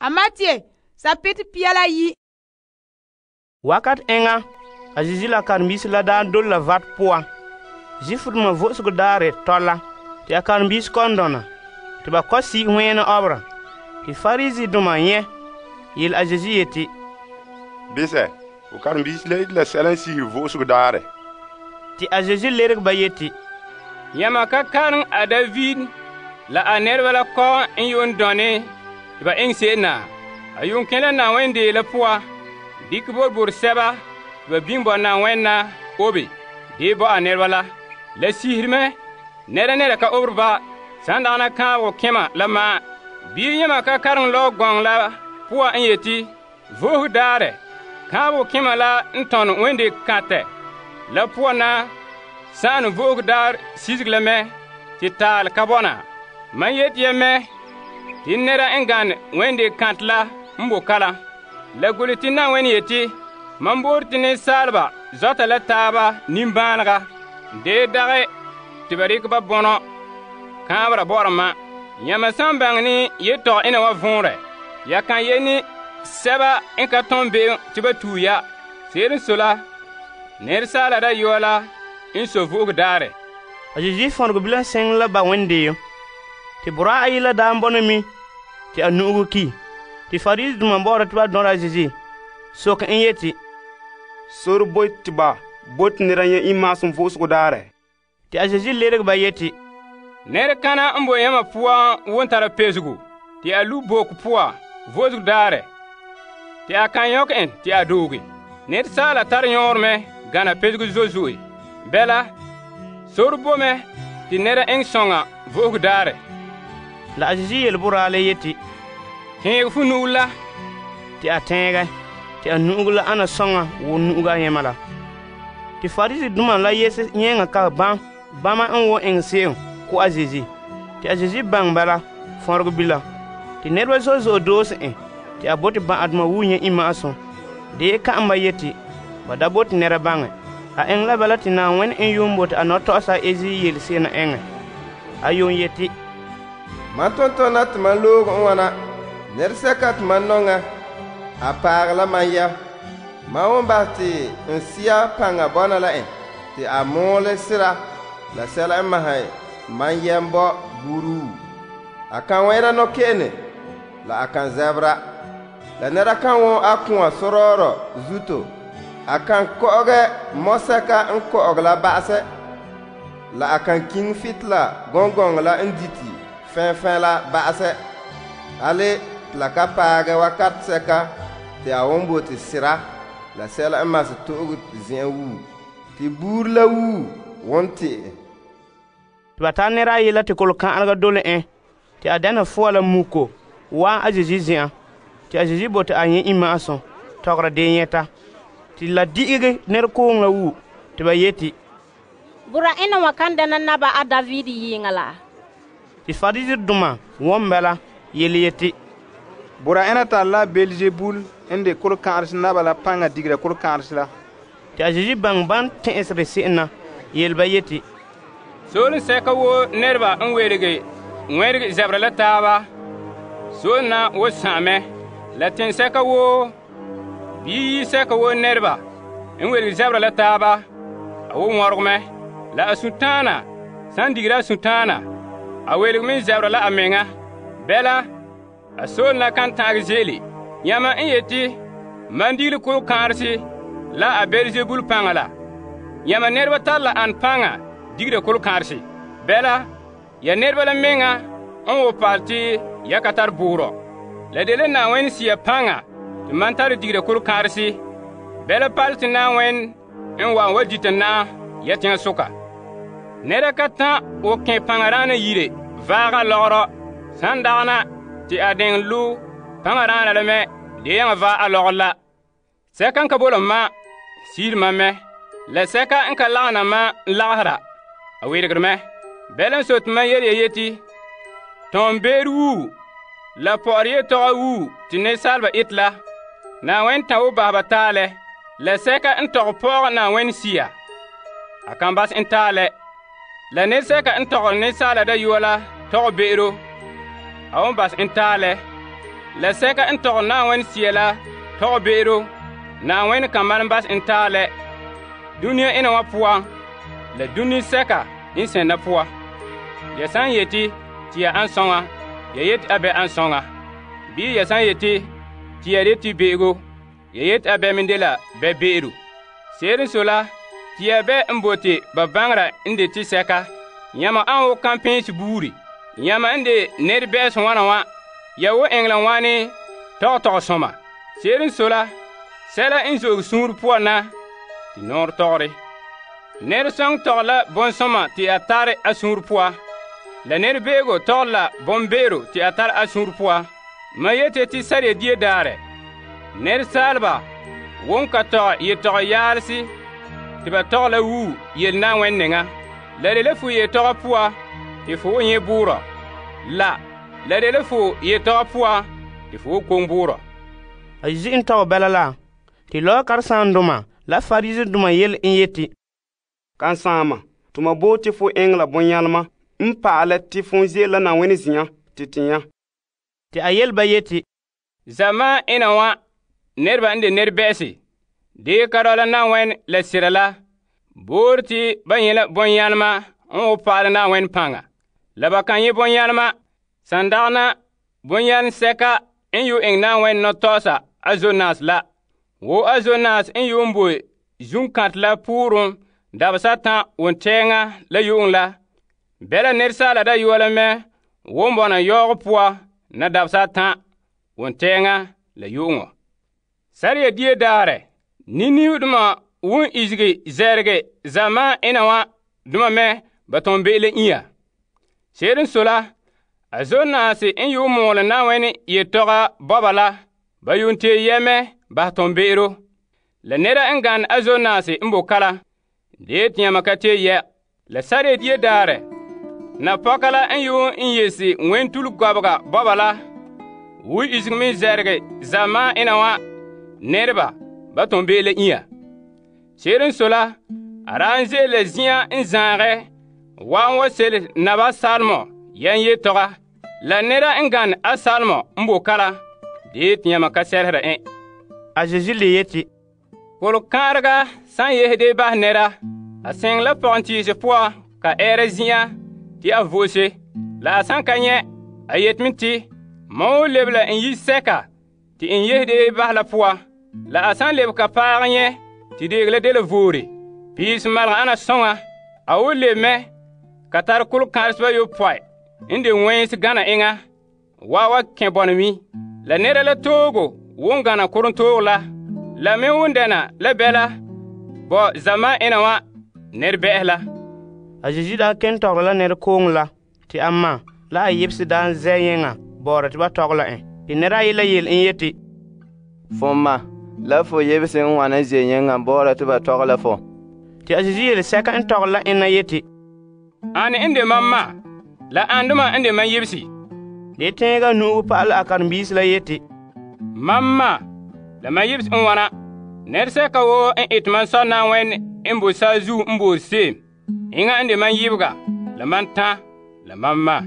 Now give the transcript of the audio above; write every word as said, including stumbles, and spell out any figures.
a Matiye sapetɛ pia la yi. Wakat enŋa, a Zeezi la karen-biisi la daa dole la vat poan. Zuifdoma vo'osego daarɛ tɔla te a karen-biisi kɔ'ɔn dɔna te ba kɔ' si' wɛɛna ɔbera. Te Fariseedoma nyɛ yele a Zeezi yeti, Bisɛ, ho karen-biisi la ite la sɛla n sihiri vo'osego daarɛ. Te a Zeezi leregɛ ba yeti, Yãma ka kareŋ a David la a nɛreba la kɔ'ɔn n yuun dɔne te ba eŋɛ se'em na. A yuun kẽ la Na'ayenɛ dee la poan, dikɛ boroboro sɛba te ba biŋe bo Na'ayenɛ na obe dee bo a nɛreba la. La sihiri mɛ nɛra nɛra ka obere ba san dagana kaanbegɔ kẽma la ma'an. Bii yãma ka kareŋ lɔɔ gɔŋɔ la poan n yeti, Vo'osego daarɛ, kaanbegɔ kẽma la n tɔnɛ wende kantɛ la poan na sa'ane vo'osego daar sizige la mɛ te taal ka bɔna. Mam yeti ya mɛ te nɛra n gane wende kantɛ la n bo kalam. La golehɛ te Na'ayenɛ yeti, mam boore te nensaaleba zɔta la taaba nimbaalega, dee dagɛ te ba rekɛ ba bɔnɔ kaanbera bɔ'ɔra ma. Yãma san baŋɛ ne yetɔgɔ ena wa vɔnrɛ, ya kan ye ne sɛba n ka tɔn be'em te ba tue ya. Se'ere n sɔe la, Nɛresaala Dayɔa la n sɔ vo'ogo daarɛ. A Zeezi fɔnregɔ bilam sɛŋ la ba wẽndeem. Te boraa ayi la daa n bɔna mi te a nu'ugu ki. Te Fariseedoma bɔ'ɔra te ba dɔra a Zeezi soke en yeti, Sore boe te ba bote nɛra nyɛ imaasem vo'osego daarɛ. Te a Zeezi leregɛ ba yeti, Nɛrekana n bo yãmba poan won tara pesego te a lu boku poan vo'osego daarɛ, te a kan yɔkɛ en te a dooge. Nɛresaala tare yõor mɛ gana pesego zo'e zo'e. Bɛla, sore bo mɛ te nɛra eŋɛ sɔŋa vo'osego daarɛ. La a Zeezi yele boraa la yeti, Tẽeg fu nu'u la. Te a tẽegɛ, te a nu'ugu la ana sɔŋa wo nu'ugu ayema la. Te Fariseedoma la yese yẽŋa ka bãm bãma n wo eŋɛ se'em ko a Zeezi. Te a Zeezi baŋ bala fɔnregɔ bila. Te nɛreba zo'e zo'e doose en te a bote bã'adoma wuo nyɛ imma'asum. Dee ka'am ba yeti ba da bote nɛra baŋɛ. A eŋɛ la bala te Na'ayenɛ n yuun bote a nɔtɔgɔsa Ezi yele se'em na eŋɛ. A yuun yeti, Mam tontona te mam loog n wana. Nɛresɛka te mam nɔŋa, a paag la mam ya. Mam won basɛ te n sia paŋa bɔna la en te a moole sera la sɛla n masɛ mam yɛm bɔ buruu. A kan wɛna nɔkɛ'ɛne la a kan zɛbera. La nɛra kan won a kũa sorɔɔrɔ zuto. A kan kɔ'ɔgɛ mɔsɛka n kɔ'ɔgɛ la ba'asɛ. La a kan kiŋ fitila gɔŋgɔŋɔ la n diti fɛnfɛn la ba'asɛ. Ale te la ka paagɛ wakat sɛka te a won bote sera la sɛla n masɛ to'ogo zen'an wuu. Te buuri la wuu won te'e. Te ba tara nɛra ayi la te kolokã'alega dole en te a dɛna fɔa la muko waa a Zeezi zen'an. Te a Zeezi bote a nyɛ imma'asum tɔgɔra dee nyɛta. Te la di'igɛ nɛrekooŋ la wuu te ba yeti, Bura ena wa kan dɛna naba a David yiŋa la. Te Fariseedoma wɔm bala yele yeti, Bura ena tare la Beelzebul n de kolokã'arese naba la paŋa digera kolokã'arese la. Te a Zeezi baŋ ban tẽ'esere se'em na yele ba yeti, Soolem sɛka woo nɛreba n werege wẽrege zɛbera la taaba, soolem na wo sãam mɛ. La tẽnsɛka woo bii yi-sɛka woo nɛreba n werege zɛbera la taaba, a wo wɔrege mɛ. La a sũ-tãana san digera a sũ-tãana, a welege me zɛbera la a meŋa. Bɛla, a soolem la kan ta'age ze'ele. Yãma n yeti, mam digile kolokãarese la a Beelzebul paŋa la. Yãma nɛreba tare la an paŋa digera kolokãarese. Bɛla, ya nɛreba la meŋa n wo paal te ya ka tare boorɔ. La de la Na'ayenɛ sia paŋa te mam tare digera kolokãarese. Bɛla paal te Na'ayenɛ n wa n wa dita naam ya teŋa soka. Nɛra ka tã o kẽ paŋa-raana yire vaaga lɔgerɔ san dagana te a deŋ lo paŋa-raana la mɛ de yaŋa va a lɔgɔ la. Sɛka n ka bola ma siiri mam mɛ, la sɛka n ka lagena ma n lagesera a weregere mɛ. Bɛla n sote mam yele ya yeti, tɔn beere wuu la pɔgɔre yetɔgɔ wuu te nensaaleba ete la, Na'ayenɛ tã wo baseba taalɛ, la sɛka n tɔgɛ pɔgɔ Na'ayenɛ sia, a kan bas n taalɛ. La nensɛka n tɔgɔre Nensaala Dayɔa la tɔgɛ be'ero, a won bas n taalɛ. La sɛka n tɔgɛ Na'ayenɛ Sea la tɔgɛ be'ero Na'ayenɛ kan malom bas en taalɛ dunia ena wa poan la dunia sɛka n sɛnda poan. Ya san yeti ti ya an sɔŋa, ya yeti a bɛ an sɔŋa. Bii ya san yeti ti ya de ti be'ego, ya yeti a bɛ min dela bɛ be'ero. Se'ere n sɔe la, ti ya bɛ n bote ba baŋera n de ti sɛka. Yãma an wo kampɛɛnse buuri. Yãma n de nɛrebɛ'ɛsɛ wana wa, ya wo eŋɛ la wane tɔgɛ tɔgɔsɔma. Se'ere n sɔe la, sɛla n zo'e suunre poan na ti nɔɔrɛ tɔgɔre. Nɛresɔŋ tɔgɛ la bɔnsɔma ti a tare a suunre poan. La nɛrebe'ego tɔgɛ la bɔmbe'ero ti a tare a suunre poan. Ma yete ti sariya die daarɛ, nɛresaaleba won ka tɔgɛ yetɔgɔ yaalese ti ba tɔgɛ la wuu yele Na'ayenɛ nɛŋa. La de la fu yetɔgɔ poan ti fu wo nyɛ buurɔ. La, la de la fu yetɔgɔ poan ti fu wo koŋ buurɔ. A Yesu n tɔgɛ bɛla la, ti lɔɔ karesaandoma la Fariseedoma yele n yeti, Kan saama, tuma bo te fo eŋɛ la bɔnyalema n pa'alɛ te fon ze'ele la Na'ayenɛ zen'an te tɛnya. Ti a yele ba yeti, Zamaan ena wa nɛreba n de nɛrebɛ'ɛse, dee ka dɔla Na'ayenɛ la sera la, boore te ba nyɛ la bɔnyalema n wo pa'alɛ Na'ayenɛ paŋa. La ba kan nyɛ bɔnyalema, san dagana bɔnyalem sɛka n yo eŋɛ Na'ayenɛ nɔtɔɔsa a Zonas la. Wo a Zonas n yo n boe zunkantɛ la pooren dabesa tan wontɛɛŋa la yu'uŋ la, bɛla nɛresaala dayɔa la mɛ wo n bɔna yaoogɔ poan na dabesa tan wontɛɛŋa la yu'uŋɔ. Sariya die daarɛ, niniudoma won izigi zɛrige zamaan ena wa doma mɛ ba tɔn be'ele inya. Se'ere n sɔe la, a Zonas n yo mɔɔlɛ Na'ayenɛ yetɔga bɔba la, ba yuun tee yɛmɛ ba tɔn be'ero. La nɛra n gane a Zonas n bo kala, dee ti yãma ka tee yɛ. La sariya die daarɛ, napɔka la n yo n yese ŋmentule gɔbega bɔba la, wo izigi me zɛrige zamaan ena wa nɛreba ba tɔn be'ele inya. Se'ere n sɔe la, a daa n ze'ele zin'an n zaagɛ wa n wa sele naba salmɔ yɛn yetɔga. La nɛra n gane a salmɔ n bo kala, dee ti yãma ka sɛlesera en. A Yesu le yeti, Kolkãarega san yesde basɛ nɛra, a sɛŋ la pɔgentiise poan ka ɛɛra zin'an ti a vo'ose. La a san ka nyɛ, a yetime ti, mam wo lebe la n yi sɛka ti n yesde basɛ la poan. La a san lebe ka paag nyɛ ti deeg la dela voore, piis malga ana sɔŋa, a wo lebe mɛ ka tare kolkãareseba yopɔi n de wɛɛnse gana eŋa wa wa kẽ bɔna mi. La nɛra la toogo won gana korontoog la, la me won dɛna la bɛla bɔ zamaan ena wa nɛrebɛ'ɛse la. A Yesu daa ken tɔgera la nɛrekooŋɔ la, ti a ma la a yebese daa n zɛ yẽŋa bɔɔrɛ ti ba tɔgɛ la en. Ti nɛra ayi la yele n yeti, Fo ma, la fo yebese n wana ze yẽŋa bɔɔrɛ ti ba tɔgɛ la fo. Ti a Yesu yele sɛka n tɔgera la enna yeti, Ane n de mam ma, la andoma n de mam yebesi. De tẽega nu'ugu pa'alɛ a karen-biisi la yeti, Mam ma, la mam yebesi n wana. Nɛresɛka woo n ete mam sɔ Na'ayenɛ n bo saazuo n boore se'em, eŋa n de mam yibega, la mam tã, la mam ma.